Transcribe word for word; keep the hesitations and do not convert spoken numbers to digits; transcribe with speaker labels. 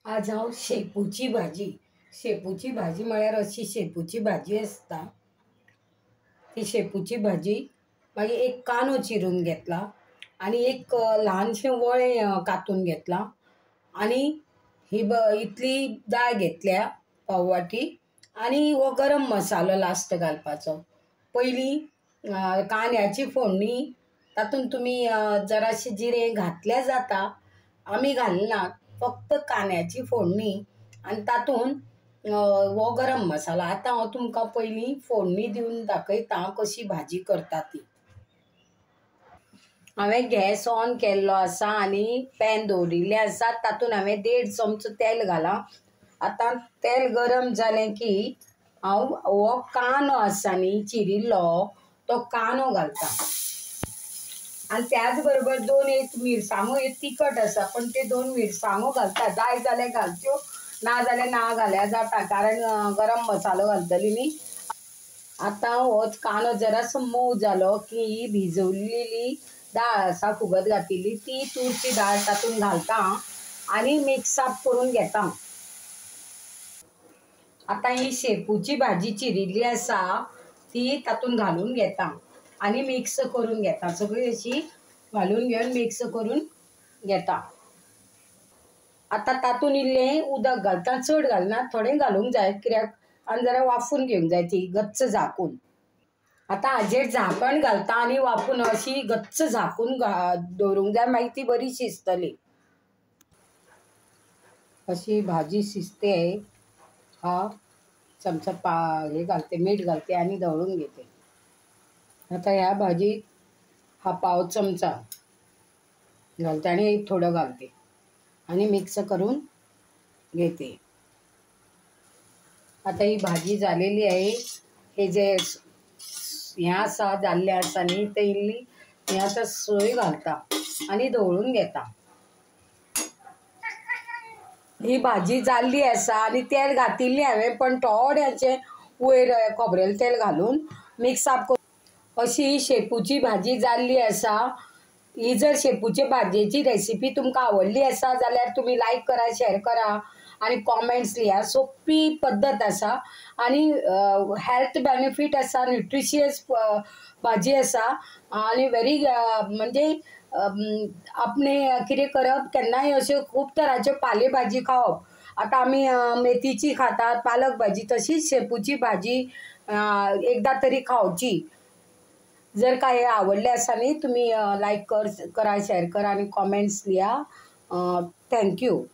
Speaker 1: आज हांव शेपूची भाजी, शेपूची भाजी म्हळ्यार अशी शेपूची भाजी आसता. ती शेपूची भाजी मागीर एक कांदो चिरून घेतला आनी एक ल्हानशें वळें कातून घेतलां आनी ही ब इतली दाळ घेतल्या पाव वाटी आनी हो गरम मसालो लास्ट घालपाचो. पयलीं कांद्याची फोडणी, तातूंत तुमी जराशें जिरें घातल्यार जाता, आमी घालनात. फक्त कांद्याची फोडणी आनी तातूंत हो गरम मसालो. आतां हांव तुमकां पयलीं फोडणी दिवन दाखयता कशी भाजी करता ती. हांवें गॅस ऑन केल्लो आसा आनी पॅन दवरिल्लें आसा. तातूंत हांवें देड चमचो तेल घालां. आतां तेल गरम जालें की हांव हो कांदो आसा न्ही चिरिल्लो तो कांदो घालता आनी त्याच बरोबर दोन एक मिरसांगो, एक तिखट आसा पण ते दोन मिरसांगो घालता. जाय जाल्यार घालच्यो, ना जाल्यार ना घाल्यार जाता, कारण गरम मसालो घालतली न्ही. आतां हो कांदो जरासो मोव जालो की ही भिजवलेली दाळ आसा फुगत घातिल्ली ती तुरची दाळ तातूंत घालता आनी मिक्स अप करून घेता. आतां ही शेपूची भाजी चिरिल्ली आसा ती तातूंत घालून घेता आनी मिक्स करून घेता. सगळी अशी घालून घेवन मिक्स करून घेता. आतां तातूंत इल्लें उदक घालता, चड घालना, थोडें घालूंक जाय कित्याक आनी जरा वाफून घेवंक जाय ती गच्च झाकून. आतां हाजेर झाकण घालता आनी वाफून अशी गच्च झाकून दवरूंक जाय, मागीर ती बरी शिजतली. अशी भाजी शिजते. हा चमचा पा हे घालते, मीठ घालते आनी धवळून घेते. आतां ह्या भाजीत हा पाव चमचा घालते आनी एक थोडो घालते आनी मिक्स करून घेते. आतां ही भाजी जालेली आहे. हे जे हें आसा जाल्लें आसा न्ही तें इल्ली हें आतां सोय घालता आनी धवळून घेता. ही भाजी जाल्ली आसा आनी तेल घातिल्लें हांवें, पण थोडेंशें वयर खोबरेल तेल घालून मिक्स अप करून अशी शेपूची भाजी जाल्ली आसा. ही जर शेपूचे भाजयेची रेसिपी तुमकां आवडली आसा जाल्यार तुमी लायक करा, शेअर करा आनी कॉमेंट्स लिया. सोंपी पद्दत आसा आनी हेल्थ बेनिफीट आसा, न्युट्रिशियस भाजी आसा आनी व्हेरी म्हणजे आपणें कितें करप, केन्नाय अश्यो खूब तरांच्यो पाले भाजी खावप. आतां आमी मेथीची खातात, पालक भाजी, तशीच शेपूची भाजी एकदां तरी खावची. जर काय आवडलें आसा न्ही तुमी लायक कर करा, शेअर करा आनी कॉमेंट्स लिया. Thank you.